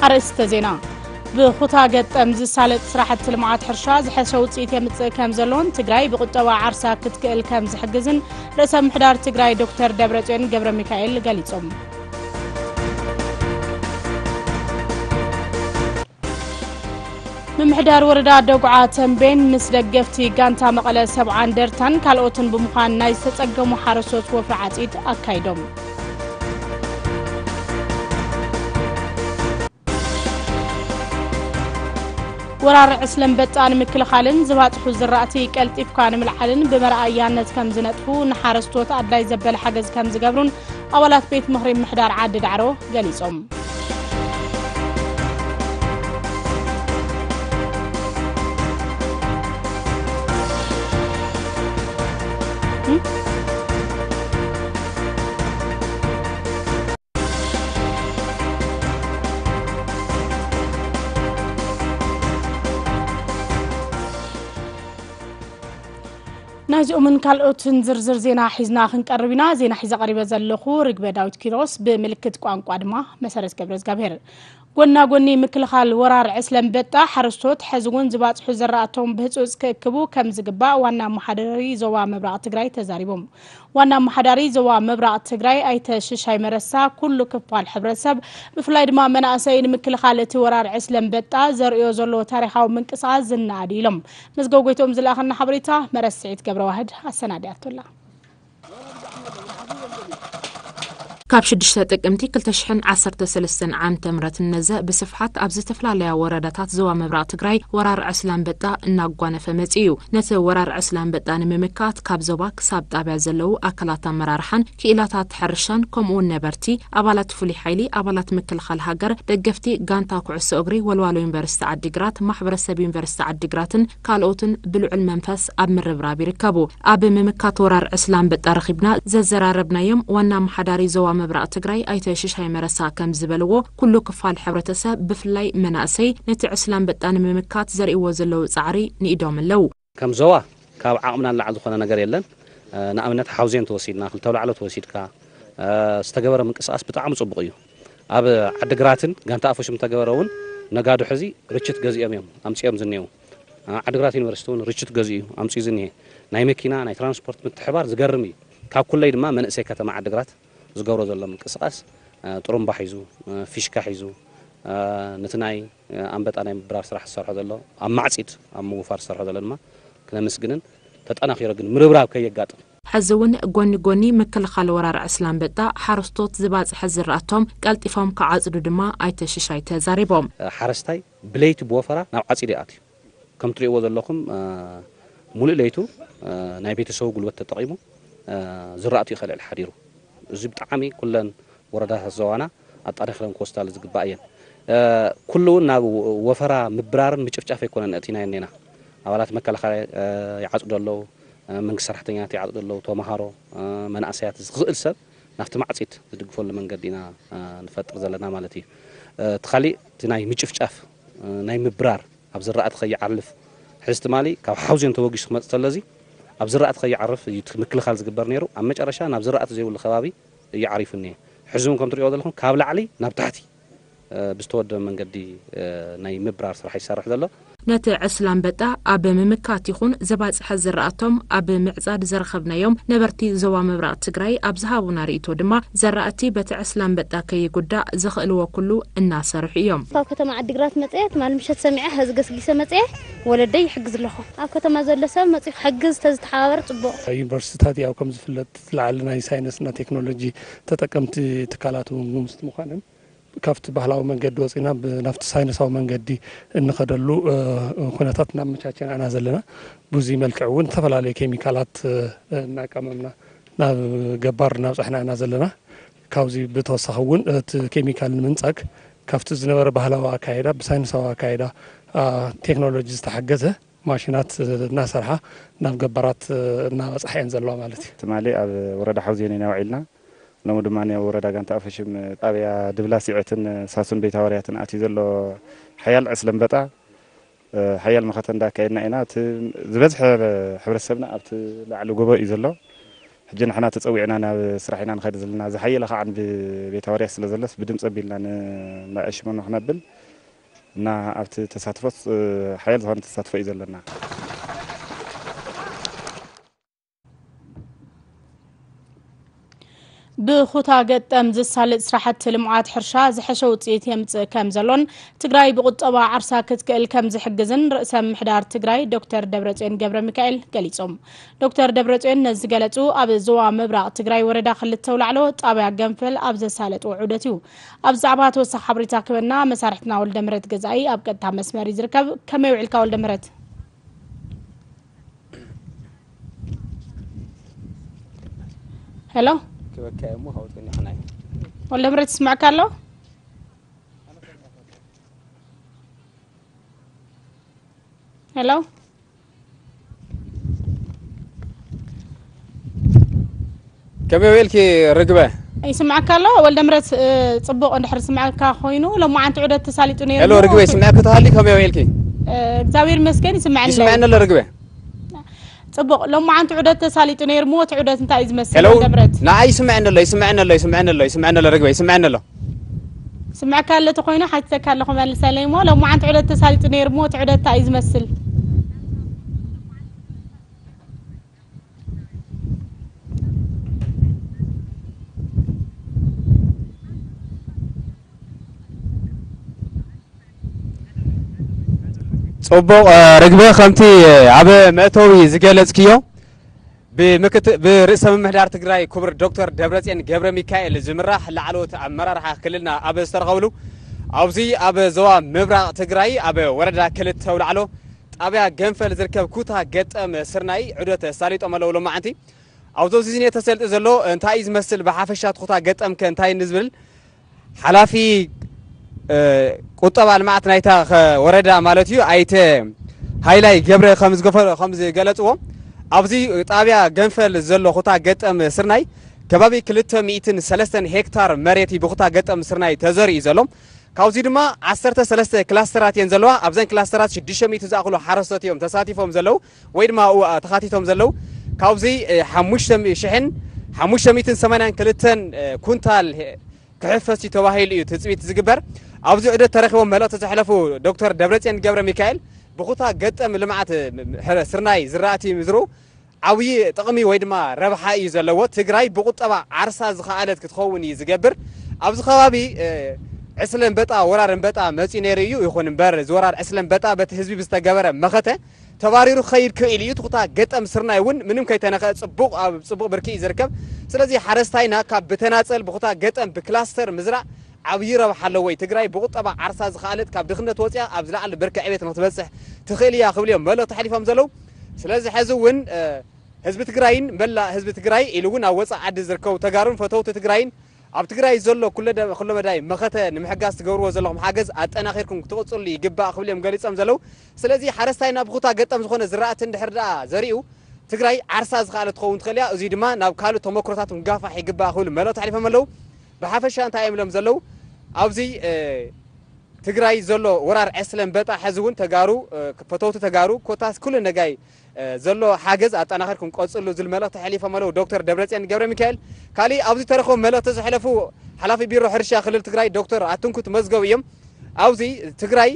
ኣርእስተ ዜና። ብኹታ ገጠም ዝሳለጥ ስራሕቲ ልምዓት ሕርሻ ዝሐሸ ውፅኢት የምፅእ ከም ዘሎን ትግራይ ብቁጠባ ዓርሳ ክትክእል ከም ዝሕግዝን ርእሰ ምሕዳር ትግራይ ዶክተር ደብረፅዮን ገብረ ሚካኤል ገሊፆም። ምምሕዳር ወረዳ ደጉዓ ተንቤን ምስ ደገፍቲ ጋንታ መቐለ ሰብዓ እንደርታን ካልኦትን ብምዃን ናይ ዝተጸገሙ ሓረስቶት ወፍሪ ዓጺድ ኣካይዶም። ወራር ዕስለ ኣንበጣ ንምክልኻልን ዝባጽሑ ዝራእቲ ቀልጢፍካ ንምልዓልን ብመርኣያነት ከም ዝነጥፉ ንሓረስቶት ኣድላይ ዘበለ ሓገዝ ከም ዝገብሩን ኣባላት ቤት ምኽሪ ምምሕዳር ዓዲ ዳዕሮ ገሊጾም። ናይዚኦምን ካልኦትን ዝርዝር ዜና ሒዝና ክንቀርብ ኢና። ዜና ሒዘ ቀሪበ ዘለኹ ርግበ ዳዊት ኪሮስ፣ ብምልክት ቋንቋ ድማ መሰረት ገብረ እግዚኣብሔር። ጎና ጎኒ ምክልኻል ወራር ዕስለ ኣንበጣ፣ ሓረስቶት ሕዚ እውን ዝባፅሑ ዘራእቶም ብህፁፅ ክእክቡ ከም ዝግባእ ዋና ኣመሓዳሪ ዞባ ምብራቕ ትግራይ ተዛሪቦም። ዋና ኣመሓዳሪ ዞባ ምብራቕ ትግራይ ኣይተ ሽሻይ መረሳ፣ ኩሉ ክፋል ሕብረተሰብ ብፍላይ ድማ መናእሰይ ንምክልኻል እቲ ወራር ዕስለ ኣንበጣ ዘርእዮ ዘሎ ታሪኻዊ ምንቅስቓስ ዝነኣድ ኢሎም። መዝገብ ጎይቶም ዝለኣኸና ሓበሬታ መረስዒት ገብረዋህድ ኣሰናዲኣቶላ። ካብ ሽዱሽተ ጥቅምቲ ክልተ ሽሕን ዓሰርተ ሰለስተን ዓመተ ምህረት ንነዘ ብስፍሓት ኣብ ዝተፈላለያ ወረዳታት ዞባ ምብራቕ ትግራይ ወራር ዕስለ ኣንበጣ እናጓነፈ መጺኡ እዩ። ነቲ ወራር ዕስለ ኣንበጣ ንምምካት ካብ ዞባ ክሳብ ጣብያ ዘለዉ ኣካላት ኣመራርሓን ክኢላታት ሕርሻን ከምኡውን ነበርቲ፣ ኣባላት ፍሉይ ሓይሊ፣ ኣባላት ምክልኻል ሃገር፣ ደገፍቲ ጋንታ ኩዕሶ እግሪ ወልዋሎ ዩኒቨርሲቲ ዓዲግራት፣ ማሕበረሰብ ዩኒቨርሲቲ ዓዲግራትን ካልኦትን ብልዑል መንፈስ ኣብ ምርብራብ ይርከቡ። ኣብ ምምካት ወራር ዕስለ ኣንበጣ ረኺብና ዘዘራረብናዮም ዋና ኣመሓዳሪ ዞባ ምብራቕ ትግራይ ኣይተ ሽሻይ መረሳ ከም ዝበልዎ፣ ኩሉ ክፋል ሕብረተሰብ ብፍላይ መናእሰይ ነቲ ዕስለ ኣንበጣ ንምምካት ዘርእይዎ ዘለዉ ጻዕሪ ንኢዶም ኣለዉ። ከም ዞባ ካብ ዓቕምና ንላዕሊ ዝኾነ ነገር የለን። እ፣ ንኣብነት ሓውዜን ተወሲድና፣ ክልተ ኣውላዕሎ ተወሲድካ፣ እ፣ ዝተገበረ ምንቅስቓስ ብጣዕሚ ጽቡቕ እዩ። ኣብ ዓድግራትን ጋንታ ኣፎሽም ዝተገበረ እውን ነጋዶ ሕዚ ርችት ገዚኦም እዮም ኣምጺኦም ዝኔው። እ፣ ዓድግራት ዩኒቨርሲቲ እውን ርችት ገዚኡ ኣምጺኡ ዝኒሄ። ናይ መኪና፣ ናይ ትራንስፖርት ምትሕባር ዝገርም እዩ። ካብ ኩለይ ድማ መንእሰይ ከተማ ዓድግራት ዝገብሮ ዘሎ ምንቅስቓስ፣ እ፣ ጥሩምባ ሒዙ፣ እ፣ ፊሽካ ሒዙ፣ እ፣ ነቲ ናይ፣ እ፣ ኣንበጣ ናይ ምብራር ስራሕ ዝሰርሖ ዘሎ፣ ኣብ ማዕጺድ ኣብ ምውፋር ዝሰርሖ ዘሎ ድማ ክነመስግንን ተጠናኺሩ ግን ምርብራብ ከየጋጥም። ሕዚ እውን ጎኒ ጎኒ ምክልኻል ወራር ዕስለ ኣንበጣ፣ ሓረስቶት ዝባጽሐ ዝራእቶም ቀልጢፎም ክዓጽዱ ድማ ኣይተ ሽሻይ ተዛሪቦም። እ፣ ሓረስታይ ብለይቲ ብወፈራ ናብ ዓጺድ ይኣትዩ። ከም ትሪእዎ ዘለኹም፣ እ፣ ሙሉእ ለይቱ፣ እ፣ ናይ ቤተሰቡ ጉልበት ተጠቒሙ፣ እ፣ ዝራእቱ እዩ ከልዕል ሓዲሩ። እዚ ብጣዕሚ ኩለን ወረዳታት ዞባና ኣጣናኺረን ክወስዳሉ ዝግባእ እየን። እ፣ ኩሉ እውን ናብ ወፈራ ምብራርን ምጭፍጫፍ ኣይኮነን ኣእቲናዮ እኒና። ኣባላት መከላኸያ፣ እ፣ ይዓጽዱ ኣለዉ፣ እ፣ መንግስቲ ሰራሕተኛታት ይዓጽዱ ኣለዉ፣ ተምሃሮ፣ እ፣ መናእሰያት፣ ዝኽእል ሰብ ናብቲ ማዕጺድ ዝድግፈሉ መንገዲ ኢና፣ እ፣ ንፈጥር ዘለና ማለት እዩ። እ፣ እቲ ካሊእ እቲ ናይ ምጭፍጫፍ፣ እ፣ ናይ ምብራር ኣብ ዝራእቲ ከይዓርፍ፣ ሕዚ ትማሊ ካብ ሓውዜን ተበጊሱ ክመጽእ ተሎ፣ እዚ ኣብ ዝራእቲ ከይዓርፍ እዩ እቲ ምክልኻል ዝግበር ነይሩ። ኣብ መጨረሻ ናብ ዝራእቲ ዘይብሉ ከባቢ እዩ ዓሪፉ እኒሀ። ሕዚ እውን ከም ትሪእዎ ዘለኹም ካብ ላዕሊ ናብ ታሕቲ፣ እ፣ ብዝተወደበ መንገዲ፣ እ፣ ናይ ምብራር ስራሕ ይሰርሕ ዘሎ። ነቲ ዕስለ ኣንበጣ ኣብ ምምካት ይኹን ዘባጽሐ ዝራእቶም ኣብ ምዕጻድ ዘረኸብናዮም ነበርቲ ዞባ ምብራቕ ትግራይ ኣብ ዝሃቡና ርእይቶ ድማ፣ ዘራእቲ በቲ ዕስለ ኣንበጣ ከይጉዳእ ዘኽእልዎ ኩሉ እናሰርሑ እዮም። ካብ ከተማ ዓዲግራት መጽየ፣ ትማሊ ምሸት ሰሚዐ፣ ሐዚ ገስጊሰ መጽየ፣ ወለደይ ይሕግዝ ኣለኹ። ኣብ ከተማ ዘሎ ሰብ መጽዩ ክሕግዝ ተዝተሓባበር ጽቡቕ። ዩኒቨርሲቲታት ያው ከም ዝፍለጥ እቲ ላዕሊ ናይ ሳይንስና ቴክኖሎጂ ተጠቀምቲ ትካላት እውን ብምስቲ ምዃነን፣ ካብቲ ባህላዊ መንገዲ ወፂና ብ-፣ ናብቲ ሳይንሳዊ መንገዲ እንኸደሉ፣ እ፣ ኩነታት እናመቻቸና ኢና ዘለና። ብዙይ መልክዕ እውን ዝተፈላለዩ ኬሚካላት፣ እ፣ እናቀመምና ናብ ገባር እናብፃሕና ኢና ዘለና። ካብዚ ብተወሳኺ እውን እቲ ኬሚካል ንምንፃግ ካብቲ ዝነበረ ባህላዊ ኣካይዳ ብሳይንሳዊ ኣካይዳ፣ አ፣ ቴክኖሎጂ ዝተሓገዘ ማሽናት እናሰርሓ ናብ ገባራት እናበፅሓ እየን ዘለዋ ማለት እዩ። ትማሊ ኣብ ወረዳ ሓውዜን ኢና ውዒልና። ሎሚ ድማ ኣብ ወረዳ ጋንታ ኣፈሽም ጣብያ ድብላ ሲዐትን ሳሱን ቤት ሃዋርያትን ኣትዩ ዘሎ ሓያል ዕስለ ኣንበጣ፣ እ፣ ሓያል መኸተ እንዳካየድና ኢና። እቲ ዝበዝሐ ሕብረተሰብና ኣብቲ ላዕሊ ጎቦ እዩ ዘሎ። ሕጂ ንሕና ተጸዊዕና ናብ ስራሕ ኢና ንኸይድ ዘለና። ዝሓየለ ከዓ ብቤት ኣዋርያ ስለ ዘሎስ ብድምፂ ኣቢልና ንመዐሽመኖ ክነብል እና ኣብቲ ተሳትፎስ ሓያል ዝኾነ ተሳትፎ እዩ ዘለና። ብኹታ ገጠም ዝሳለጥ ስራሕቲ ልምዓት ሕርሻ ዝሐሸ ውፅኢት የምፅእ ከም ዘሎን ትግራይ ብቁጠባ ዓርሳ ክትክእል ከም ዝሕግዝን ርእሰ ምምሕዳር ትግራይ ዶክተር ደብረፅዮን ገብረ ሚካኤል ገሊፆም። ዶክተር ደብረፅዮን ነዚ ዝገለፁ ኣብ ዞባ ምብራቕ ትግራይ ወረዳ ክልተ ኣውላዕሎ ጣብያ ገንፈል ኣብ ዘሳለጥዎ ዑደት እዩ። ኣብዚ ዛዕባ ተወሳኺ ሓበሬታ ክህበና መሳርሕትና ወልደምህረት ገዛኢ ኣብ ቀጥታ መስመር እዩ ዝርከብ። ከመይ ውዒልካ ወልደምህረት? ሄሎ ክበካ እሞ ካብኡ ጸኒሕና እዩ። ወልደምህረት ይስምዐካ ኣሎ? ሄሎ ከመይ ውዒልኪ ርግበ? ይስምዐካ ኣሎ ወልደምህረት? ጽቡቕ እንድሕር ዝስምዐካ ኮይኑ ሎማዓንቲ ዑደት ተሳሊጡ ነይሩ። ሄሎ ርግበ ይስምዐኪ ተሃልዩ ከመይ ውዒልኪ? እግዚኣብሔር ይመስገን ይስምዐኒ ኣሎ። ይስምዐኒ ኣሎ ርግበ። ጽቡቕ ሎማዓንቲ ዑደት ተሳሊጡ ነይሩ እሞ እቲ ዑደት እንታይ እዩ ዝመስል ወልደምህረት? ንዓይ ይስምዐኒ ኣሎ ይስምዐኒ ኣሎ ይስምዐኒ ኣሎ ይስምዐኒ ኣሎ ርግበ ይስምዐኒ ኣሎ። ስምዐካ ኣሎ ተኾይኑ ሓቲተካ ኣለኹ መልሰለይ እሞ ሎማዓንቲ ዑደት ተሳሊጡ ነይሩ እሞ እቲ ዑደት እንታይ እዩ ዝመስል? ጽቡቕ ርግበ፣ ከምቲ ኣብ መእተዊ ዝገለጽክዮ ብርእሰ ምምሕዳር ትግራይ ክቡር ዶክተር ደብረፅዮን ገብረ ሚካኤል ዝምራሕ ላዕለዎት ኣመራርሓ ክልልና ኣብ ዝተረኸብሉ ኣብዚ ኣብ ዞባ ምብራቕ ትግራይ ኣብ ወረዳ ክልተ ኣውላዕሎ ጣብያ ገንፈል ዝርከብ ኩታ ገጠም ስርናይ ዑደት ኣሳሊጦም ኣለዉ። ሎማዓንቲ ኣብዚ ኣብዚ ተሰልጢ ዘሎ እንታይ እዩ ዝመስል፣ ብሓፈሻ እቲ ኩታ ገጠም ከ እንታይ ንዝብል ሓላፊ ቁጠባ ልምዓት ናይታ ወረዳ ማለት እዩ ኣይተ ሃይላይ ገብረ ከም ዝገለፅዎ ኣብዚ ጣብያ ገንፈል ዘሎ ኩታ ገጠም ስርናይ ከባቢ ክልተ ሚእትን ሰለስተን ሄክታር መሬት እዩ ብኩታ ገጠም ስርናይ ተዘሪኡ ዘሎ። ካብዚ ድማ ዓሰርተ ሰለስተ ክላስተራት እየን ዘለዋ። ኣብዘን ክላስተራት ሽዱሽተ ሚእቲ ዝኣኽሉ ሓረስቶት እዮም ተሳቲፎም ዘለዉ ወይ ድማ ኣብኡ ተኻቲቶም ዘለዉ። ካብዚ ሓሙሽተ ሽሕን ሓሙሽተ ሚእትን ሰማንያን ክልተን ኩንታል ክሕፈስ እዩ ተባሂሉ እዩ ትፅቢት ዝግበር። ኣብዚ ዑደት ተረኺቦም መልእኽቲ ዘሕለፉ ዶክተር ደብረፅዮን ገብረ ሚካኤል ብኩታ ገጠም ልምዓት ስርናይ ዝራእቲ ምዝርኡ ዓብዪ ጥቕሚ ወይ ድማ ረብሓ እዩ ዘለዎ። ትግራይ ብቁጠባ ዓርሳ ዝኸኣለት ክትኸውን እዩ ዝገብር። ኣብዚ ከባቢ ዕስለ እምበጣ ወራር እምበጣ መፂኡ ነይሩ እዩ። ይኹን እምበር እዚ ወራር ዕስለ እምበጣ በቲ ህዝቢ ብዝተገበረ መኸተ ተባሪሩ ክኸይድ ክእል እዩ። ትኩታ ገጠም ስርናይ እውን ምንም ከይተነኸ ፅቡቕ ኣብ ፅቡቕ ብርኪ እዩ ዝርከብ። ስለዚ ሓረስታይና ካብ ብተናፀል ብኩታ ገጠም ብክላስተር ምዝራእ ዓብዪ ረብሓ ኣለዎ። ትግራይ ብቁጠባ ዓርሳ ዝኸኣለት ካብ ድኽነት ወፂኣ ኣብ ዝለዓለ ብርኪ ዕቤት ንክትበፅሕ ትኽእል እያ ክብሉ እዮም መልእኽቲ ሓሊፎም ዘለዉ። ስለዚ ሕዚ እውን ህዝቢ ትግራይን መላእ ህዝቢ ትግራይ ኢሉ እውን ኣብ ወፃኢ ዓዲ ዝርከቡ ተጋሩን ፈተውቲ ትግራይን ኣብ ትግራይ ዘሎ ኩለመዳይ መኸተ ንምሕጋዝ ትገብርዎ ዘለኹም ሓገዝ ኣጠናኺርኩም ክትቕፅሉ ይግባእ ክብሉ እዮም ገሊፆም ዘለዉ። ስለዚ ሓረስታይና ብኩታ ገጠም ዝኾነ ዝራእቲ እንድሕር ደኣ ዘሪኡ ትግራይ ዓርሳ ዝኸኣለት ትኸውን ትኽእል እያ። እዙይ ድማ ናብ ካልእ ተመክሮታት ክንጋፋሕ ይግባእ ክብሉ መልእኽቲ ኣሕሊፎም ኣለዉ። ብሓፈሻ እንታይ እዮም ኢሎም ዘለዉ ኣብዚ ትግራይ ዘሎ ወራር ዕስለ እምበጣ ሕዚ እውን ተጋሩ ፈተውቲ ተጋሩ ኮታስ ኩሉ ነጋይ ዘሎ ሓገዝ ኣጠናኺርኩም ቀፅሉ ዝብል መልእኽቲ ኣሕሊፎም ኣለዉ ዶክተር ደብረፅዮን ገብረ ሚካኤል። ካሊእ ኣብዚ ተረኸቡ መልእኽቲ ዘሕለፉ ሓላፊ ቢሮ ሕርሻ ክልል ትግራይ ዶክተር ኣትንኩት መዝገቡ እዮም። ኣብዚ ትግራይ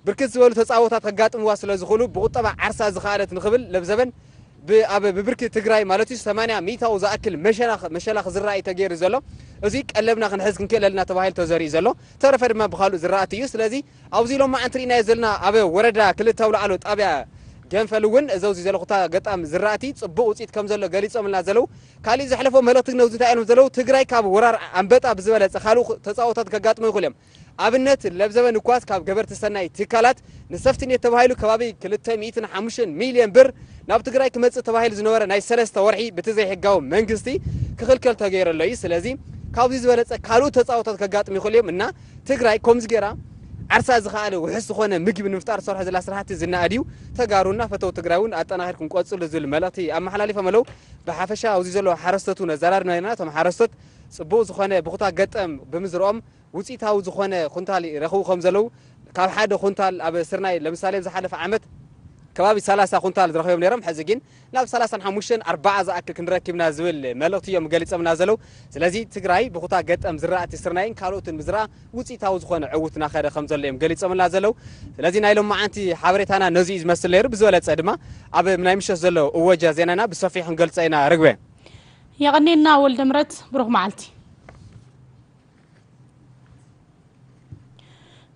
ብርክት ዝበሉ ተፃቦታት ከጋጥምዋ ስለ ዝኽእሉ ብቁጠባ ዓርሳ ዝኸኣለት ንኽብል ለብዘበን ኣብ ብብርኪ ትግራይ ማለት እዩ ሰማንያ ሚእታዊ ዝኣክል መሸላ ክዝራእ እዩ ተገይሩ ዘሎ። እዚ ቀለብና ክንሕዝ ክንክእል ኣለና ተባሂሉ ተዘሪኡ ዘሎ። ተረፈ ድማ ብካልኡ ዝራእቲ እዩ። ስለዚ ኣብዚ ሎማዓንቲ ርኢናዮ ዘለና ኣብ ወረዳ ክልተ ኣውላዕሎ ጣብያ ገንፈል እውን እዚ ኣብዚ ዘለኹታ ገጣም ዝራእቲ ፅቡቕ ውፅኢት ከም ዘሎ ገሊፆምልና ዘለዉ። ካሊእ ዘሕለፎ መልእኽቲ ነዚ እንታይ እዮም ዘለዉ ትግራይ ካብ ወራር ኣንበጣ ብዝበለፀ ካልኡ ተፃቦታት ከጋጥሞ ይኽእሉ እዮም። ኣብነት ለብዘበን እኳስ ካብ ገበርቲ ሰናይ ትካላት ንሰፍትኔት ተባሂሉ ከባቢ ክልተ ሚእትን ሓሙሽተን ሚልዮን ብር ናብ ትግራይ ክመፅእ ተባሂሉ ዝነበረ ናይ ሰለስተ ወርሒ ብቲ ዘይሕጋዊ መንግስቲ ክኽልከል ተገይሩ ኣሎ እዩ። ስለዚ ካብዚ ዝበለፀ ካልኦት ተፃቦታት ከጋጥሙ ይኽእሉ እዮም እና ትግራይ ከምዚ ገይራ ዓርሳ ዝኸኣለ ውሑስ ዝኾነ ምግቢ ንምፍጣር ዝሰርሖ ዘላ ስራሕቲ ዝነኣድ እዩ። ተጋሩና ፈተው ትግራይ እውን ኣጠናኺርኩም ቀፅሉ ዝብል መልእኽቲ ኣመሓላሊፎም ኣለዉ። ብሓፈሻ ኣብዚ ዘለዉ ሓረስቶት እውን ኣዘራሪብና ኢና። እቶም ሓረስቶት ፅቡቕ ዝኾነ ብኹታ ገጠም ብምዝርኦም ውፅኢታዊ ዝኾነ ኩንታል ይረኽቡ ከም ዘለዉ ካብ ሓደ ኩንታል ኣብ ስርናይ ለምሳሌ ዝሓለፈ ዓመት ከባቢ ሰላሳ ኩንታል ዝረኸቦም ነይሮም፣ ሕዚ ግን ናብ ሰላሳን ሓሙሽተን ኣርባዓ ዝኣክል ክንረክብና ዝብል መልእኽቲ እዮም ገሊጾምና ዘለዉ። ስለዚ ትግራይ ብኹታ ገጠም ዝራእቲ ስርናይን ካልኦትን ብዝረኣ ውፅኢታዊ ዝኾነ ዕውት እናኸደ ከም ዘሎ እዮም ገሊጾምና ዘለዉ። ስለዚ ናይ ሎማዓንቲ ሓበሬታና ነዚ እዩ ዝመስል ነይሩ። ብዝበለጸ ድማ ኣብ ናይ ምሸት ዘሎ እወጃ ዜናና ብሰፊሑ ክንገልጾ ኢና። ርግበ። የቐኔና ወልደ ምረት፣ ብሩኽ መዓልቲ።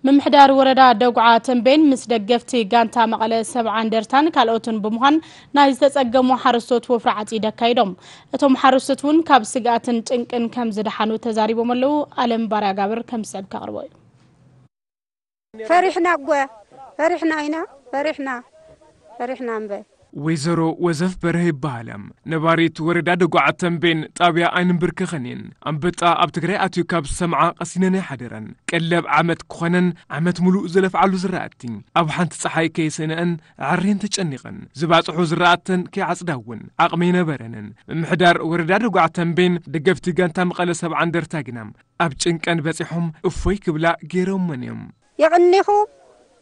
ምምሕዳር ወረዳ ደጉዓ ተንቤን ምስ ደገፍቲ ጋንታ መቐለ ሰብዓ እንደርታን ካልኦትን ብምዃን ናይ ዝተጸገሙ ሓረስቶት ወፍሪ ዓጺድ ኣካይዶም። እቶም ሓረስቶት እውን ካብ ስግኣትን ጭንቅን ከም ዝደሓኑ ተዛሪቦም ኣለዉ። ኣለም ባርያ ጋብር ከም ዝስዕብ ከቕርቦ እዩ። ፈሪሕና እጓ፣ ፈሪሕና ኢና፣ ፈሪሕና፣ ፈሪሕና እምበር። ወይዘሮ ወዘፍ በርሀ ይበሃላ። ነባሪት ወረዳ ደጉዓ ተንቤን ጣብያ ኣይንንብርከኸን እየን። ኣንበጣ ኣብ ትግራይ ኣትዩ ካብ ዝሰምዓ ቀሲነን ኣይሓደራን። ቀለብ ዓመት ክኾነን ዓመት ሙሉእ ዝለፍዓሉ ዝራእቲ ኣብ ሓንቲ ፀሓይ ከይሰነአን ኣዕርየን ተጨኒቐን። ዝባፅሑ ዝራእተን ከይዓፅዳ እውን ዓቕሚ ኣይነበረንን። ምምሕዳር ወረዳ ደጉዓ ተንቤን ደገፍቲ ጋንታ መቐለ ሰብዓ እንደርታ ግና ኣብ ጭንቀን በፂሖም እፎይ ክብላ ገይሮመን እዮም። የቕኒኹም፣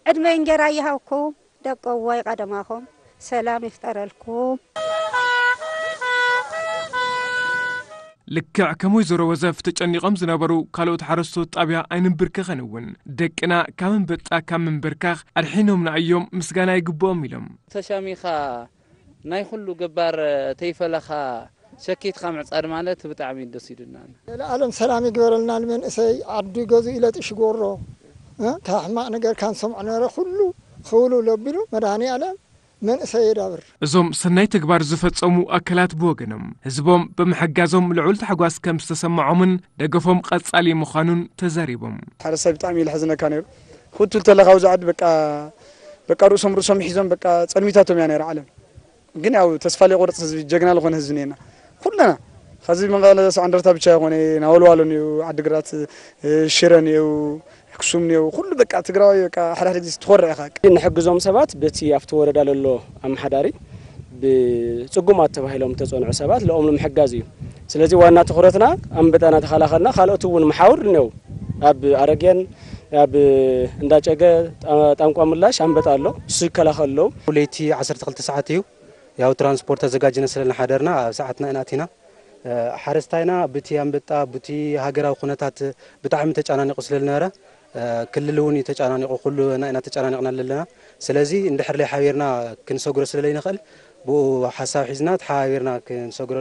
ዕድመ እንጀራ ይሃብኩም፣ ደቀዋይ ቀደማኹም ሰላም ይፍጠረልኩም። ልክዕ ከም ወይዘሮ ወዘፍ ተጨኒቖም ዝነበሩ ካልኦት ሓረስቶት ጣብያ ኣይንንብርከኸን እውን ደቅና ካብ ኣንበጣ ካብ ምንብርካኽ ኣድሒኖምና እዮም፣ ምስጋና ይግብኦም ኢሎም። ተሻሚኻ ናይ ኩሉ ገባር ተይፈለኻ ሸኪትካ ምዕጻድ ማለት ብጣዕሚ ደስ ኢሉና። ለዓለም ሰላም ይግበረልና። ንመንእሰይ ዓዱ ገዙ ኢለጥ ሽጎሮ ካብ ሕማቕ ነገር ካንሰምዖ ነበረ ኩሉ ክውልውል ኣቢሉ መድሃኒ ኣለም መንእሰይ የዳብር። እዞም ሰናይ ተግባር ዝፈጸሙ ኣካላት ብወገኖም ህዝቦም ብምሕጋዞም ልዑል ታሕጓስ ከም ዝተሰምዖምን ደገፎም ቀጻሊ ምዃኑን ተዛሪቦም። ሓረስታይ ብጣዕሚ እዩ ልሕዝነካ ነይሩ። ክትብል ተለካ ኣብዚ ዓዲ በቃ በቃ ርእሶም ርእሶም ሒዞም በቃ ጸልሚታቶም እያ ነይራ ዓለም። ግን ያው ተስፋ ለይቆርጽ ህዝቢ ጀግና ልኾነ ህዝቢ ነና ኩለና ኸዚ መቐለ ሰው እንደርታ ብቻ ይኾነ ናወልዋሎ ነው ዓድግራት ሽረ ነው ኣክሱም ነው ኩሉ በቃ ትግራዋይ በቃ ሓደ ሓደ ግዜ ትኾርዕ ኢኻ። ንሕግዞም ሰባት በቲ ኣብቲ ወረዳ ለሎ ኣመሓዳሪ ብጽጉማት ተባሂሎም ተጸንዑ ሰባት ለኦም ንምሕጋዝ እዩ። ስለዚ ዋና ትኹረትና ኣንበጣና ተኸላኸልና ካልኦት እውን መሓውር ነው ኣብ ኣረግየን ኣብ እንዳጨገ ጣንቋ ምላሽ ኣንበጣ ኣሎ እሱ ይከላኸል ኣለዉ። ለይቲ ዓሰርተ ክልተ ሰዓት እዩ ያው ትራንስፖርት ኣዘጋጅነ ስለልናሓደርና ኣብ ሰዓትና ኢና ኣቲና። ሓረስታይና ብቲ ኣንበጣ ብቲ ሃገራዊ ኩነታት ብጣዕሚ ተጨናኒቑ ስለልነበረ ክልል እውን እዩ ተጨናኒቑ ኩሉ ናይና ተጨናኒቕና ኣለና። ስለዚ እንድሕር ለይ ሓቢርና ክንሰግሮ ስለለይንኽእል ብኡ ሓሳብ ሒዝና ተሓባቢርና ክንሰግሮ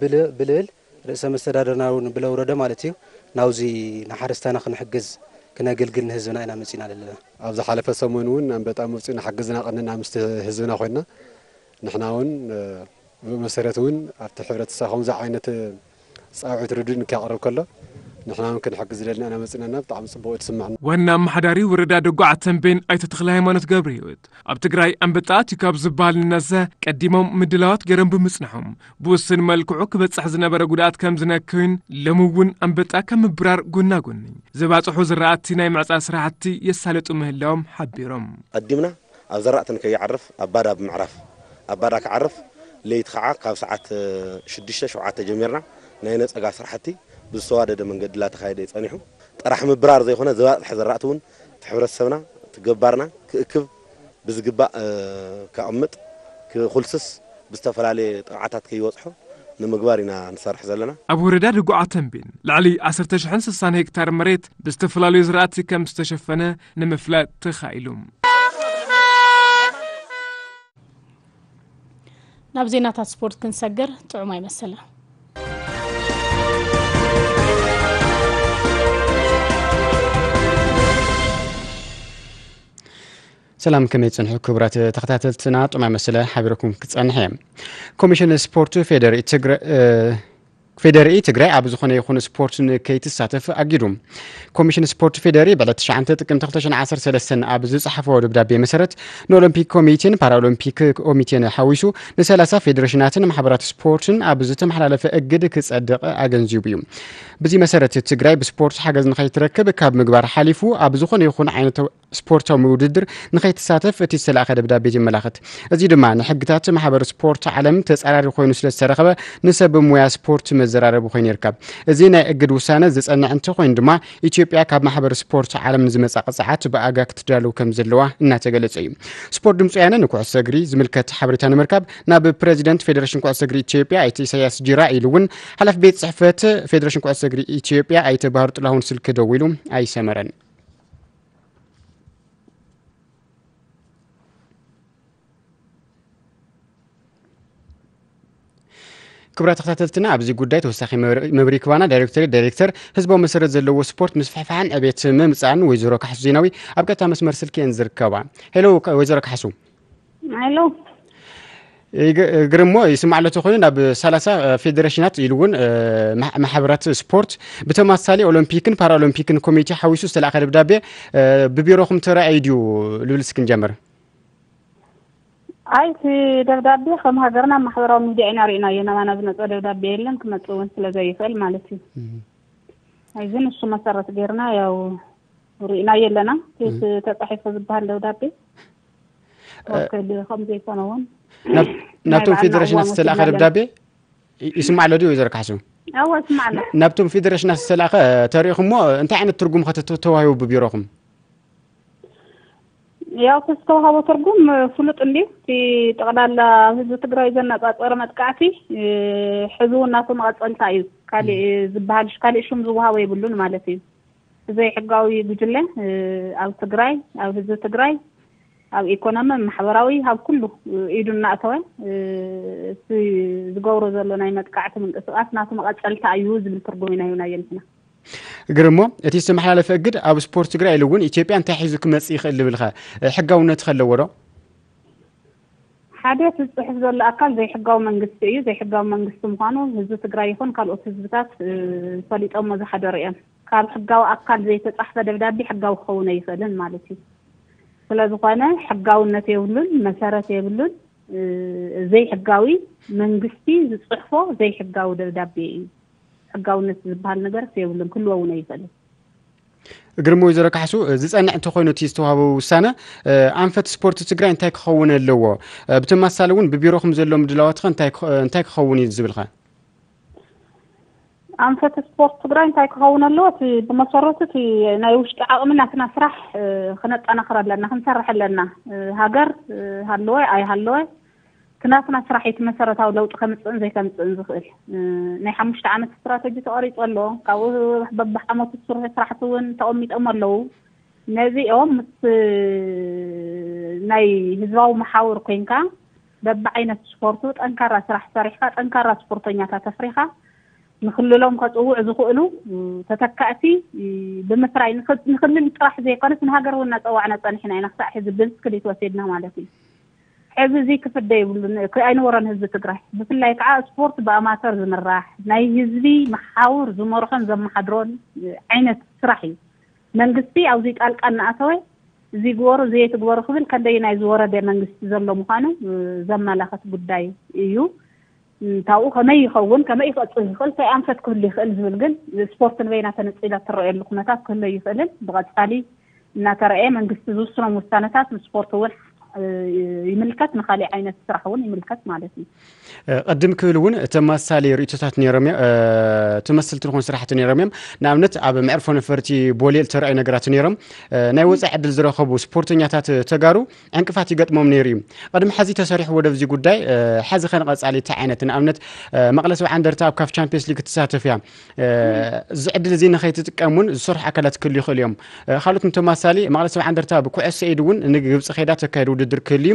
ብልብል ርእሰ መስተዳደርና እውን ብለውረደ ማለት እዩ ናውዚ ንሓረስታይና ክንሕግዝ ክነግልግል ንህዝብና ኢና መፂና ዘለና። ኣብ ዝሓለፈ ሰሙን እውን ኣንበጣ መፅኡ ንሓግዝና ቀንና ምስቲ ህዝብና ኮይንና ንሕና እውን ብኡ መሰረት እውን ኣብቲ ሕብረተሰብ ከምዚ ዓይነት ፃውዒት ርዱእ ንክያቕርብ ከሎ ንሕና እውን ክንሕግዝ ደልና ኢና መፅናና ብጣዕሚ ፅቡቅ እዩ ትስምዕና። ዋና ኣመሓዳሪ ወረዳ ደጉዓ ተንቤን ኣይተ ተክለ ሃይማኖት ገብረ ህይወት ኣብ ትግራይ ኣንበጣ ኣትዩ ካብ ዝበሃል ንነዘ ቀዲሞም ምድላዋት ገይሮም ብምፅንሖም ብውስን መልክዑ ክበፅሕ ዝነበረ ጉድኣት ከም ዝነከዩን ሎሚ እውን ኣንበጣ ካብ ምብራር ጎና ጎኒ ዝባፅሑ ዝራእቲ ናይ ምዕፃ ስራሕቲ የሳለጡ ምህላዎም ሓቢሮም። ቀዲምና ኣብ ዘራእቲ ንከይዓርፍ ኣብ ባዳ ብምዕራፍ ኣብ ባዳ ክዓርፍ ለይቲ ከዓ ካብ ሰዓት ሽዱሽተ ሸውዓተ ጀሚርና ናይ ነፀጋ ስራሕቲ ብዝተዋደደ መንገዲ ላተኻየደ እዩ ፀኒሑ። ጥራሕ ምብራር ዘይኮነ ዝባፅሐ ዘራእቲ እውን እቲ ሕብረተሰብና እቲ ገባርና ክእክብ ብዝግባእ ከቕምጥ ክኹልስስ ብዝተፈላለየ ጥቕዓታት ከይበፅሖ ንምግባር ኢና ንሰርሕ ዘለና። ኣብ ወረዳ ድጉዓ ተንቤን ልዕሊ ዓሰርተ ሽሕን ስሳን ሄክታር መሬት ብዝተፈላለዩ ዝራእቲ ከም ዝተሸፈነ ንምፍላጥ ተኻኢሉ። ናብ ዜናታት ስፖርት ክንሰግር ጥዑም ኣይመሰለን። ሰላም ከመይ ትጸንሑ ክቡራት ተኸታተልትና፣ ጥዑም መሰለ ሓቢረኩም ክጸንሕ እየ። ኮሚሽን ስፖርት ፌዴሪ ትግራይ ፌዴሪኢ ትግራይ ኣብ ዝኾነ ይኹን ስፖርት ንከይትሳተፍ ኣጊዱ። ኮሚሽን ስፖርት ፌዴሪ ብዕለት ትሽዓተ ጥቅምቲ ክልተ ሽሕን ዓሰርተ ሰለስተን ኣብ ዝጸሓፎ ደብዳቤ መሰረት ንኦሎምፒክ ኮሚቴን ፓራኦሎምፒክ ኮሚቴን ሓዊሱ ንሰላሳ ፌዴሬሽናትን ማሕበራት ስፖርትን ኣብ ዝተመሓላለፈ እግድ ክጸድቕ ኣገንዚቡ እዩ። ብዚ መሰረት ትግራይ ብስፖርት ሓገዝ ንኸይትረክብ ካብ ምግባር ሓሊፉ ኣብ ዝኾነ ይኹን ዓይነት ስፖርታዊ ውድድር ንኸይትሳተፍ እቲ ዝተላእኸ ደብዳቤ የመላኽት። እዚ ድማ ንሕግታት ማሕበር ስፖርት ዓለም ተጻራሪ ኮይኑ ስለ ዝተረኸበ ንሰብ ሞያ ስፖርት መዘራረቢ ኮይኑ ይርከብ። እዚ ናይ እግድ ውሳነ ዝጸንዕ እንተኾይኑ ድማ ኢትዮጵያ ካብ ማሕበር ስፖርት ዓለም ንዝመጻ ቅጽዓት ብኣጋ ክትዳለው ከም ዘለዋ እናተገለጸ እዩ። ስፖርት ድምፂ ወያነ ንኩዕሶ እግሪ ዝምልከት ሓበሬታ ንምርካብ ናብ ፕሬዚደንት ፌዴሬሽን ኩዕሶ እግሪ ኢትዮጵያ ኣይተ ኢሳያስ ጂራ ኢሉ እውን ሓላፊ ቤት ጽሕፈት ፌዴሬሽን ኩዕሶ እግሪ ኢትዮጵያ ኣይተ ባህሩ ጥላሁን ስልኪ ደዊሉ ኣይሰመረን። ክቡራት ተኸታተልትና፣ ኣብዚ ጉዳይ ተወሳኺ መብር- መብርሂ ክባና ዳይሬክቶሬት ዳይሬክተር ህዝባዊ መሰረት ዘለዎ ስፖርት ምስፍሕፋሕን ዕቤት ምምፃእን ወይዘሮ ካሕሱ ዜናዊ ኣብ ቀጥታ መስመር ስልኪ እየን ዝርከባ። ሄሎ ከ- ወይዘሮ ካሕሱ። ሄሎ። ይግ- ግርሞ ይስማዕ ኣሎ ተኾይኑ ናብ ሰላሳ ፌዴሬሽናት ኢሉ እውን እ፣ ማሕ- ማሕበራት ስፖርት ብተመሳሳሊ ኦሎምፒክን ፓራኦሎምፒክን ኮሚቴ ሓዊሱ ዝተላእከ ደብዳቤ እ፣ ብቢሮኹም ተራእዩ ድዩ ልብል እስኪ ንጀምር። ኣይ እቲ ደብዳቤ ከም ሃገርና ኣብ ማሕበራዊ ሚድያ ኢና ርኢናዮ። ናባና ዝመፀ ደብዳቤ የለን፣ ክመፅእ እውን ስለ ዘይኽእል ማለት እዩ። ኣይዚ ንሱ መሰረት ጌርና ያው ርኢናዮ ኣለና። እቲ ተፃሒፉ ዝበሃል ደብዳቤ ወከል ከም ዘይኮነ እውን ናብ- ናይ ናብቶም ባዕልና ፌዴሬሽናት እዋን ዝተላእኸ ወሲድና ኣለና። ደብዳቤ ይ- ይስማዕ ኣሎ ድዩ ወይዘሮ ካሕሱ? እወ፣ ይስማዕ ኣሎ። ናብቶም ፌዴሬሽናት ዝተላእኸ ተሪእኹሞ እንታይ ዓይነት ትርጉም ኸ ተተዋሂቡ ብቢሮኹም? ያው እቲ ዝተዋሃቦ ትርጉም ፍሉጥ እንድዩ። እቲ ጠቕላላ ኣብ ህዝቢ ትግራይ ዘነጻጸረ መጥቃዕቲ ሕዚ እውን ናቱ መቐጸልታ እዩ። ካሊእ ዝበሃል ካሊእ ሽም ዝወሃቦ የብሉን ማለት እዩ። ብዘይ ሕጋዊ ጉጅለ ኣብ ትግራይ፣ ኣብ ህዝቢ ትግራይ፣ ኣብ ኢኮኖሚ፣ ማሕበራዊ፣ ኣብ ኩሉ ኢዱ እናእተወ እቲ ዝገብሮ ዘሎ ናይ መጥቃዕቲ ምንቅስቃስ ናቱ መቐጸልታ እዩ ዝብል ትርጉም ኢና ሂብናዮ ንሕና። ግርሞ፣ እቲ ዝተመሓላለፈ እግድ ኣብ ስፖርት ትግራይ ኢሉ እውን ኢትዮጵያ እንታይ ሒዙ ክመጽእ ይኽእል ዝብልኸ ሕጋውነት ከለዎ ዶ? ሓደ እቲ ዝፅሕፍ ዘሎ ኣካል ዘይሕጋዊ መንግስቲ እዩ። ዘይሕጋዊ መንግስቲ ምዃኑ ህዝቢ ትግራይ ይኹን ካልኦት ህዝብታት ፈሊጦሞ ዝሓደሩ እዮም። ካብ ሕጋዊ ኣካል ዘይተፃሕፈ ደብዳቤ ሕጋዊ ክኸውን ኣይኽእልን ማለት እዩ። ስለዝኾነ ሕጋውነት የብሉን፣ መሰረት የብሉን። ዘይሕጋዊ መንግስቲ ዝፅሕፎ ዘይሕጋዊ ደብዳቤ እዩ። ሕጋውነት ዝበሃል ነገር የብሉን፣ ክህልዎ እውን ኣይኽእልን። ግርሞ፣ ወይዘሮ ካሕሱ፣ ዝፀንዕ እንተኾይኑ እቲ ዝተዋህበ ውሳነ ኣንፈት ስፖርት ትግራይ እንታይ ክኸውን ኣለዎ? ብተመሳሳሊ እውን ብቢሮኹም ዘሎ ምድላዋት ኸ እንታይ ክኸ- እንታይ ክኸውን እዩ ዝብል ኸ? ኣንፈት ስፖርት ትግራይ እንታይ ክኸውን ኣለዎ? እቲ ብመሰረቱ እቲ ናይ ውሽጢ ዓቕሚ ናትና ስራሕ ክነጠናኽር ኣለና፣ ክንሰርሕ ኣለና። ሃገር ሃለወ ኣይሃለወ እቲ ናትና ስራሕ እቲ መሰረታዊ ለውጢ ከምፅእን ዘይከምፅእን ዝኽእል። ናይ ሓሙሽተ ዓመት ስትራተጂ ተቐሪፁ ኣሎ። ካብኡ በብዓመቱ ዝስርሑ ስራሕቲ እውን ተቐሚጦም ኣለዉ። ነዚኦም ምስ ናይ ህዝባዊ መሓውር ኮይንካ በብዓይነት ስፖርቱ ጠንካራ ስራሕ ሰሪሕካ ጠንካራ ስፖርተኛታት ኣፍሪኻ ንክልሎም ከፅውዑ ዝኽእሉ ተተካእቲ ብምፍራይ ንክ- ንክልል ጥራሕ ዘይኮነስ ንሃገር እውን እናፀዋዕና ፀኒሕና ኢና ክሳዕ ሕዚ ብስክሊት ወሲድና ማለት እዩ። ሕዚ እዚ ክፍደ ይብሉን ኣይንወሮን ህዝቢ ትግራይ። ብፍላይ ከዓ ስፖርት ብኣማተር ዝምራሕ ናይ ህዝቢ መሓውር ዝመርሖን ዘመሓድሮን ዓይነት ስራሕ እዩ። መንግስቲ ኣብዚ ጣልቃ እናኣተወ እዚ ግበሩ እዚ ኣይትግበሩ ክብል ከንደይናይ ዝወረደ መንግስቲ ዘሎ ምዃኑ ዘመላኸት ጉዳይ እዩ። ካብኡ ከመይ ይኸውን ከመይ ክቐፅል ይኽእል እንታይ ኣንፈት ክህሉ ይኽእል ዝብል ግን ስፖርት ንበይና ተነፂላ ትረኣየሉ ኩነታት ክህሉ ይኽእልን ብቐፃሊ እናተረኣየ መንግስቲ ዝውስኖም ውሳነታት ንስፖርት እውን ይምልከት ንካሊእ ዓይነት ስራሕ እውን ይምልከት ማለት እዩ። ቅድም ክብል እውን ተመሳሳሊ ርእቶታት ነይሮም እዮም። ተመሰልቲ ዝኾኑ ስራሕቲ ነይሮም እዮም። ንኣብነት ኣብ መዕርፎ ነፈርቲ ቦሌ ዝተረኣዩ ነገራት ነይሮም። ናይ ወፃኢ ዕድል ዝረኸቡ ስፖርተኛታት ተጋሩ ዕንቅፋት ይገጥሞም ነይሩ እዩ። ቅድሚ ሕዚ ተሰሪሑ ወደብዚ ጉዳይ ሕዚ ከንቐፃሊ እንታይ ዓይነት ንኣብነት መቐለ ሰብዓ እንደርታ ኣብ ካፍ ቻምፒየንስ ሊግ ትሳተፍ እያ። እዚ ዕድል እዚ ንኸይትጥቀም እውን ዝሰርሑ ኣካላት ክህሉ ይኽእሉ እዮም። ካልኦት ተመሳሳሊ መቐለ ሰብዓ እንደርታ ብኩዕሶ ኢድ እውን ንግብፂ ከይዳ ተካይድ ውድድር ክህሉ እዩ።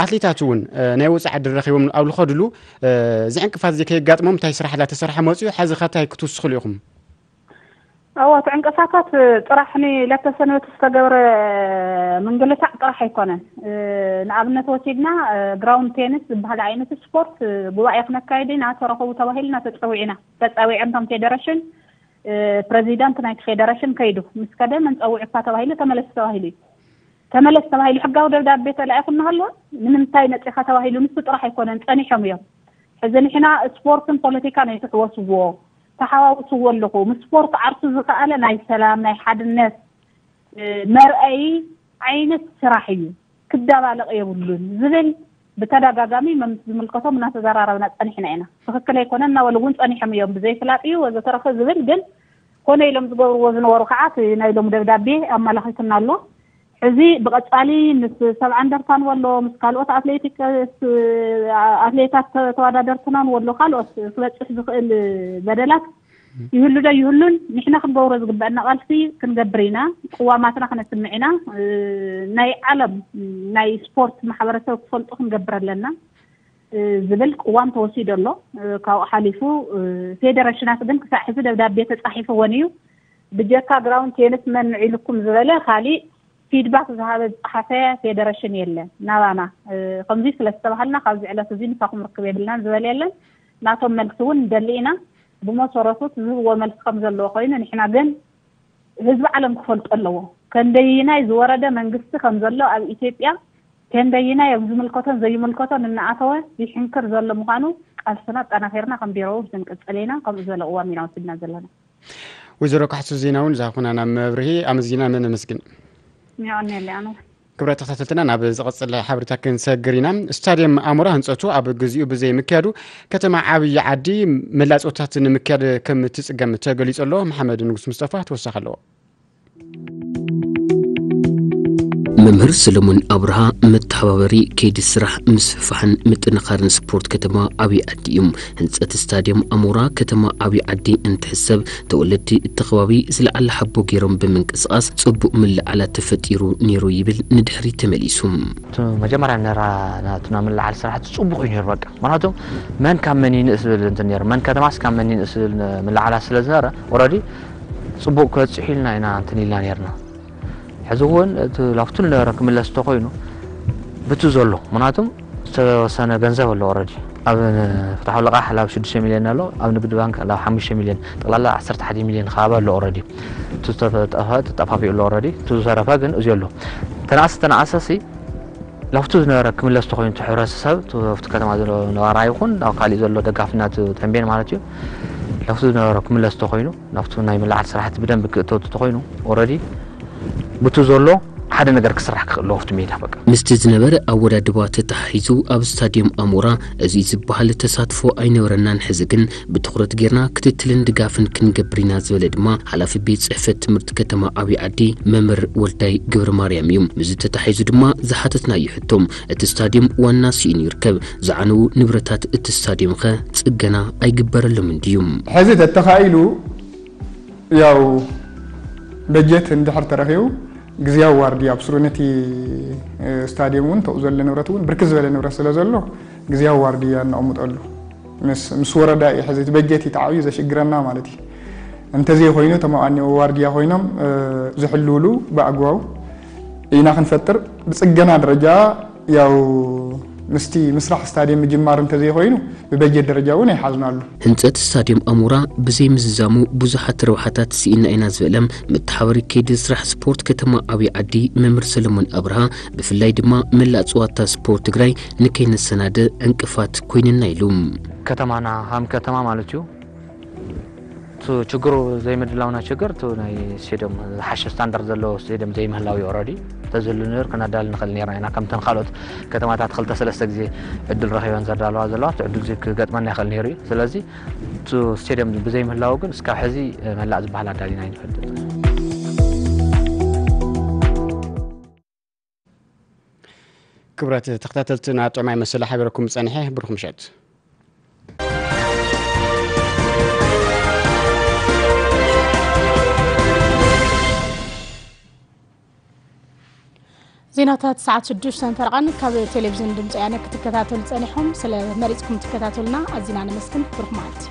ኣትሌታት እውን ናይ ወፃኢ ዕድል ረኺቦም ኣብ ዝኸድሉ እዚ ዕንቅፋት እዚ ከየጋጥሞም እንታይ ስራሕ ዳተሰርሐ መፅኡ ሕዚ ከ እንታይ ክትውስኽሉ ኢኹም? እወ እቲ ዕንቅፋታት ጥራሕ ንለተሰንበት ዝተገብረ ምንግልታዕ ጥራሕ ኣይኮነን። ንኣብነት ወሲድና ግራውንድ ቴኒስ ዝበሃል ዓይነት ስፖርት ጉባኤ ክነካይድ ኢና ተረኸቡ ተባሂልና ተፀዊዕና ተፀዊዐን ከም ፌደረሽን ፕረዚዳንት ናይቲ ፌደረሽን ከይዱ ምስ ከደ መን ፀዊዑካ ተባሂሉ ተመለስ ተባሂሉ እዩ። ተመለስ ተባሂሉ ሕጋዊ ደብዳቤ ተላኢኹ እናሃለወ ንምንታይ መፂኻ ተባሂሉ ንሱ ጥራሕ ኣይኮነን ፀኒሖም እዮም። ሕዚ ንሕና ስፖርትን ፖለቲካን ኣይትሕወስዎ ተሓዋውስዎ ኣለኹ ምስ ስፖርት ዓርሱ ዝኸኣለ ናይ ሰላም ናይ ሓድነት መርኣይ ዓይነት ስራሕ እዩ፣ ክደባለቕ የብሉን ዝብል ብተደጋጋሚ መምስ ዝምልከቶም እናተዘራረብና ጸኒሕና ኢና። ትኽክል ኣይኮነን እናበሉ እውን ጸኒሖም እዮም። ብዘይፍላጥ እዩ ወዘተረፈ ዝብል ግን ኮነ ኢሎም ዝገብርዎ ዝነበሩ ከዓ እቲ ናይ ሎም ደብዳቤ ኣመላኺትና ኣሎ። ሕዚ ብቐጻሊ ምስ ሰብዓ እንደርታን ወሎ ምስ ካልኦት ኣትሌቲክስ ኣትሌታት ተወዳደርትናን ወሎ ካልኦት ክበጽሕ ዝኽእል በደላት ይህሉ ዶ ይህሉን ንሕና ክንገብሮ ዝግበአና ቃልሲ ክንገብር ኢና። ቅዋማትና ክነስምዕ ኢና። ናይ ዓለም ናይ ስፖርት ማሕበረሰብ ክፈልጡ ክንገብር ኣለና ዝብል ቅዋም ተወሲዶ ኣሎ። ካብኡ ሓሊፉ ፌደሬሽናት ግን ክሳዕ ሕዚ ደብዳቤ ተፃሒፍዎን እዩ። ብጀካ ግራውንድ ቴንስ መን ንዒልኩም ዝበለ ካሊእ ፊድባክ ዝሃበ ዝፀሓፈ ፌደሬሽን የለን ናባና። ከምዚ ስለዝተባሃልና ካብዚ ዕለት እዚ ምሳኹም ርክብ የብልናን ዝበለ የለን። ናቶም መልሲ እውን ንደሊ ኢና። ብመሰረቱ ዝህብዎ መልሲ ከም ዘለዎ ኮይኑ ንሕና ግን ህዝቢ ዓለም ክፈልጦ ኣለዎ። ከንደይናይ ዝወረደ መንግስቲ ከም ዘሎ ኣብ ኢትዮጵያ ከንደይናይ ኣብ ዝምልከቶን ዘይምልከቶን እናኣተወ ይሕንክር ዘሎ ምዃኑ ቃልስና ኣጠናኺርና ከም ቢሮ እውን ክንቅፅል ኢና። ከምኡ ዝበለ ቅዋም ኢና ወሲድና ዘለና። ወይዘሮ ካሕሱ ዜና እውን ዝሃብኩና ናብ መብርሂ ኣመስጊና መን ኣመስግን። የቐንየለይ ኣነ። ክብረት ተኸታተልትና ናብ ዝቐፅል ሓበሬታ ክንሰግር ኢና። ስታድየም ኣሞራ ህንፀቱ ኣብ ግዚኡ ብዘይ ምክያዱ ከተማ ዓብዪ ዓዲ መላፅወታት ንምክያድ ከም ትፅገም ተገሊፁ ኣሎ። መሓመድ ንጉስ ሙስጠፋ ተወሳኺ ኣለዎ። መምህር ሰለሞን ኣብርሃ መተሓባበሪ ከይዲ ስራሕ ምስፍፋሕን ምጥንኻርን ስፖርት ከተማ ዓብዪ ዓዲ እዩ። ህንፀት ስታድየም ኣሞራ ከተማ ዓብዪ ዓዲ እንትሕሰብ ተወለድቲ እቲ ከባቢ ዝለዓለ ሓቦ ገይሮም ብምንቅስቓስ ፅቡቕ ምልዕዓላት ተፈጢሩ ነይሩ ይብል ንድሕሪት ተመሊሱ። እቲ መጀመርያ ነራ ናትና ምልዓል ስራሕቲ ፅቡቕ እዩ ነይሩ። በቃ ምክንያቱም መን ካብ መን ይንእስ ዝብል እንትን ነይሩ፣ መን ከተማስ ካብ መን ይንእስ ዝብል ምልዓላት ስለ ዝነበረ ኦረዲ ፅቡቕ ክበፅሕ ኢልና ኢና እንትን ኢልና ነይርና። ሕዚ እውን እቲ ላፍቱ ዝነበረ ክምለስ እንተኮይኑ ብቲ ዘሎ ምክንያቱም ዝተወሰነ ገንዘብ ኣሎ ኦረዲ ኣብ ፍትሓዊ ልቓሕ ላብ ሽዱሽተ ሚልዮን ኣሎ፣ ኣብ ንግዲ ባንክ ላብ ሓሙሽተ ሚልዮን ጠቕላላ ዓሰርተ ሓደ ሚልዮን ከባቢ ኣሎ ኦረዲ። እቲ ዝተጠፈ ተጠፋፊኡ ኣሎ ኦረዲ። እቲ ዝተረፈ ግን እዚ ኣሎ ተናእሰ ተናእሰ ሲ ላፍቱ ዝነበረ ክምለስ ተኮይኑ እቲ ሕብረተሰብ እቲ ኣብቲ ከተማ ዘሎ ነባራ ይኹን ኣብ ካሊእ ዘሎ ደጋፊና እቲ ተንቤን ማለት እዩ ላፍቱ ዝነበረ ክምለስ ተኮይኑ ናብቲ ናይ ምልዓል ስራሕቲ ብደንብ ክእተው ተኮይኑ ኦረዲ ብቱ ዘሎ ሓደ ነገር ክስራሕ ክኽእል ኣለዎ ኣብቲ ሜዳ በቃ። ምስቲ ዝነበረ ኣወዳድባ ተተሓሒዙ ኣብ ስታድየም ኣሞራ እዚ ዝበሃል ተሳትፎ ኣይነበረናን። ሕዚ ግን ብትኹረት ጌርና ክትትልን ድጋፍን ክንገብር ኢና ዝበለ ድማ ሓላፊ ቤት ጽሕፈት ትምህርቲ ከተማ ዓብዪ ዓዲ መምህር ወልዳይ ገብረ ማርያም እዩ። ምስዚ ተተሓሒዙ ድማ ዝሓተትናዮ ሕቶ እቲ ስታድየም ዋና ስኢኑ ይርከብ፣ ዝዓነዉ ንብረታት እቲ ስታድየም ኸ ጽገና ኣይግበረሎምን ድዩ? ሕዚ ተተኻኢሉ ያው በጀት እንድሕር ተረኺቡ ግዝያዊ ዋርድያ ኣብ ስሩ ነቲ ስታድየም እውን ተኡ ዘሎ ንብረት እውን ብርክት ዝበለ ንብረት ስለ ዘሎ ግዝያዊ ዋርድያ እነቐምጠሉ ምስ ምስ ወረዳ እዩ። ሕዚ እቲ በጀት እዩ ተዓብዩ ዘሽግረና ማለት እዩ። እንተዘይኮይኑ እቶም ኣብኣኒ ዋርድያ ኮይኖም ዝሕልውሉ ብኣግባቡ ኢና ክንፈጥር። ብፅገና ደረጃ ያው ምስቲ ምስራሕ ስታድየም ምጅማር እንተዘይኮይኑ ብበጀት ደረጃ እውን ኣይሓዝናሉ። ህንፀት ስታድየም ኣሞራ ብዘይምዝዛሙ ብዙሓት ረብሓታት ስኢና ኢና ዝበለ መተሓበሪ ከይዲ ስራሕ ስፖርት ከተማ ዓብዪ ዓዲ መምህር ሰለሞን ኣብርሃ ብፍላይ ድማ መላእ ፀዋታ ስፖርት ትግራይ ንከይነሰናደ ዕንቅፋት ኮይንና ኢሉ። ከተማና ሃም ከተማ ማለት እዩ። እቲ ችግሩ ዘይምድላውና ችግር እቲ ናይ ስቴድዮም ዝሓሸ ስታንዳርድ ዘለዎ ስቴድዮም ዘይምህላው እዩ። ኦረዲ ተዝህሉ ነይሩ ክነዳል ንኽእል ነርና ኢና። ከምተን ካልኦት ከተማታት ክልተ ሰለስተ ግዜ ዕድል ረኺበን ዘዳለዋ ዘለዋ እቲ ዕድል እዚ ክገጥመና ይኽእል ነይሩ እዩ። ስለዚ እቲ ስቴድዮም ብዘይምህላው ግን እስካብ ሕዚ መላእ ዝበሃል ኣዳሊና ይንፈልጥ። ክብረት ተኸታተልትና ጥዑማይ መሰለ ሓቢረኩም ጸኒሐ። ብሩኽ ምሸት። ዜናታት ሰዓት ሽዱሽተ ፈረቓን ካብ ቴሌቪዝን ድምፂ ወያነ ክትከታተሉ ጸኒሕኩም ስለ መሪጽኩም ትከታተሉና ኣዚና ነመስግን። ብሩኽ መዓልቲ።